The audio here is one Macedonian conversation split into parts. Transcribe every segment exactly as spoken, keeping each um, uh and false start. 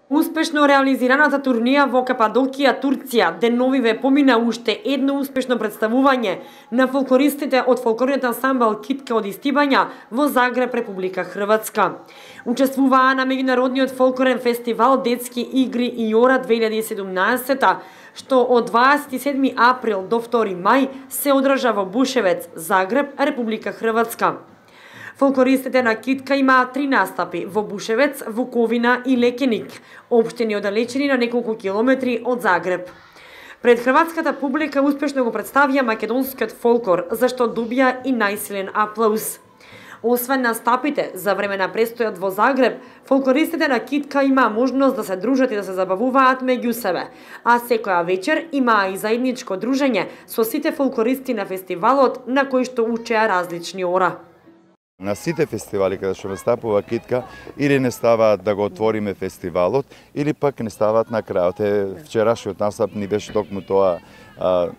Успешно реализираната турнија во Кападокија, Турција, деновиве помина уште едно успешно представување на фолклористите од фолклорниот ансамбл Китка од Истибања во Загреб, Република Хрватска. Учествуваа на меѓународниот фолклорен фестивал Детски игри и ора две илјади и седумнаесета, што од дваесет и седми април до втори мај се одржа во Бушевец, Загреб, Република Хрватска. Фолклористите на Китка имаат три настапи во Бушевец, Вуковина и Лекеник, општини оддалечени на неколку километри од Загреб. Пред хрватската публика успешно го представија македонскиот фолклор, зашто добија и најсилен аплауз. Освен настапите за време на престојот во Загреб, фолклористите на Китка имаа можност да се дружат и да се забавуваат меѓу себе, а секоја вечер имаа и заедничко дружење со сите фолклористи на фестивалот, на кој што учеа различни ора. На сите фестивали каде што настапува Китка, или не ставаат да го отвориме фестивалот, или пак не ставаат на крајот. Е, вчерашниот настап ни беше токму тоа, а,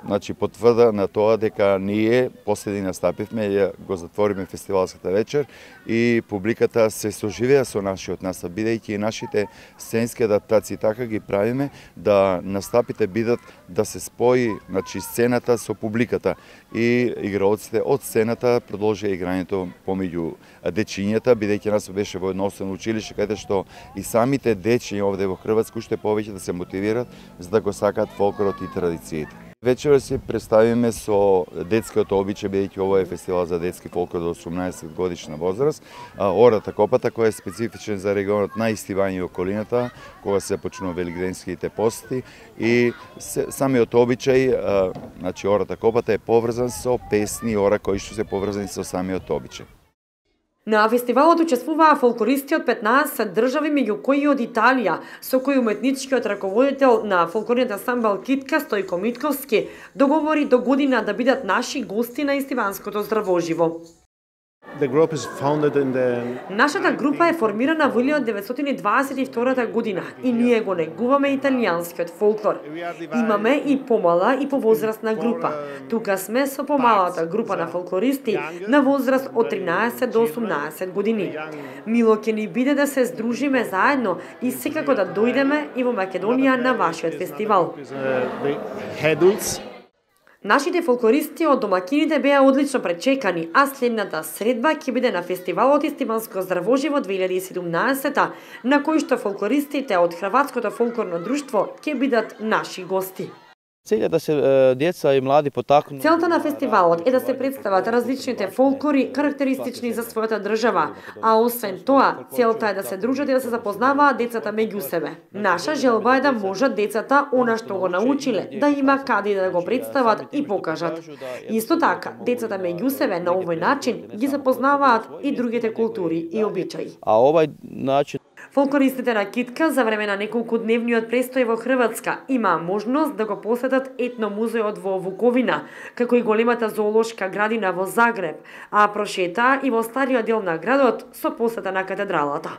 значи потврда на тоа дека ние последни настапивме, ја го затвориме фестивалската вечер и публиката се соживеа со нашиот настап, бидејќи и нашите сценски адаптации така ги правиме да настапите бидат да се спои, значи сцената со публиката и играоците од сцената продолжија играњето помеѓу дечињата, бидејќи нас беше во едно основно училиште каде што и самите дечиња овде во Хрватска уште повеќе да се мотивираат за да го сакаат фолклорот и традициите. Вечера си представиме со детскиот обичај, бидејќи ова е фестивал за детски фолклор до осумнаесет годишна возраст. Ората Копата, која е специфичен за регионот на Истибање и околината, кога се почнува велигденските пости и се, самиот обичај, значи Ората Копата е поврзан со песни и ора кои што се поврзани со самиот обичај. На фестивалот учествуваа фолклористи од петнаесет држави, меѓу кои од Италија, со кој уметничкиот раководител на фолклорниот ансамбл Китка, Стојко Митковски, договори до година да бидат наши гости на Истиванското здравоживо. The... Нашата група е формирана во илјада деветстотини дваесет и втора година и ние го негуваме италијанскиот фолклор. Имаме и помала и повозрастна група. Тука сме со помалата група на фолклористи на возраст од тринаесет до осумнаесет години. Мило ќе ни биде да се здружиме заедно и секако да дојдеме и во Македонија на вашиот фестивал. Нашите фолклористи од домакините беа одлично пречекани, а следната средба ќе биде на фестивалот Истиванско здравоживо две илјади и седумнаесета, на кој што фолклористите од Хрватското фолклорно друштво ќе бидат наши гости. Целта да се деца и млади потакнат. Целта на фестивалот е да се представат различните фолклори карактеристични за својата држава, а освен тоа, целта е да се дружат и да се запознаваат децата меѓу себе. Наша желба е да можат децата она што го научиле, да има каде да го представат и покажат. Исто така, децата меѓу себе на овој начин ги запознаваат и другите култури и обичаи. А овај начин фолклористите на Китка за време на неколку дневниот престој во Хрватска имаа можност да го посетат етномузеот во Вуковина, како и големата зоолошка градина во Загреб, а прошетаа и во стариот дел на градот со посета на катедралата.